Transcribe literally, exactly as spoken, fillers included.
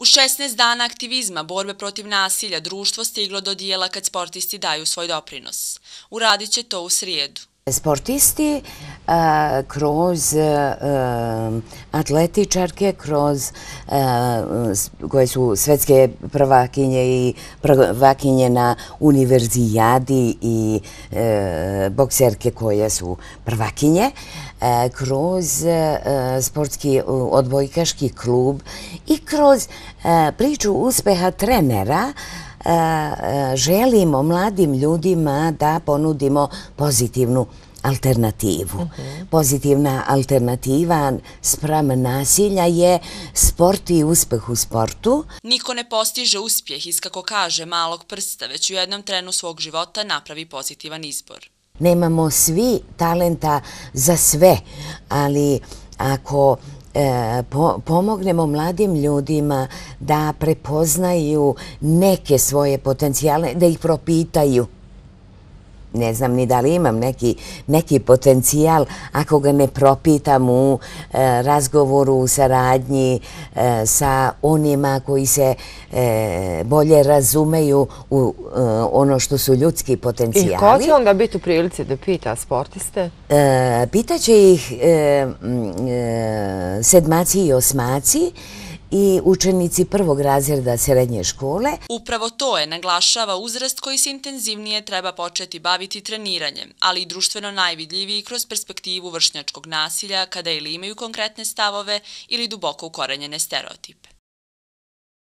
U šesnaest dana aktivizma borbe protiv nasilja društvo stiglo do dijela kad sportisti daju svoj doprinos. Uradit će to u srijedu. Sportisti a, kroz a, atletičarke, kroz a, koje su svetske prvakinje i prvakinje na univerzijadi i a, bokserke koje su prvakinje, a, kroz a, sportski odbojkaški klub i kroz a, priču uspeha trenera želimo mladim ljudima da ponudimo pozitivnu alternativu. Pozitivna alternativa spram nasilja je sport i uspeh u sportu. Niko ne postiže uspjeh iz, kako kaže, malog prsta, već u jednom trenu svog života napravi pozitivan izbor. Nemamo svi talenta za sve, ali ako pomognemo mladim ljudima da prepoznaju neke svoje potencijale, da ih propitaju. Ne znam ni da li imam neki, neki potencijal ako ga ne propitam u e, razgovoru, u saradnji e, sa onima koji se e, bolje razumeju u e, ono što su ljudski potencijali. I ko će onda biti u prilici da pita sportiste? E, pitaće ih e, e, sedmaci i osmaci i učenici prvog razreda srednje škole. Upravo to je, naglašava, uzrast koji se intenzivnije treba početi baviti treniranjem, ali i društveno najvidljiviji kroz perspektivu vršnjačkog nasilja kada ili imaju konkretne stavove ili duboko ukorenjene stereotipe.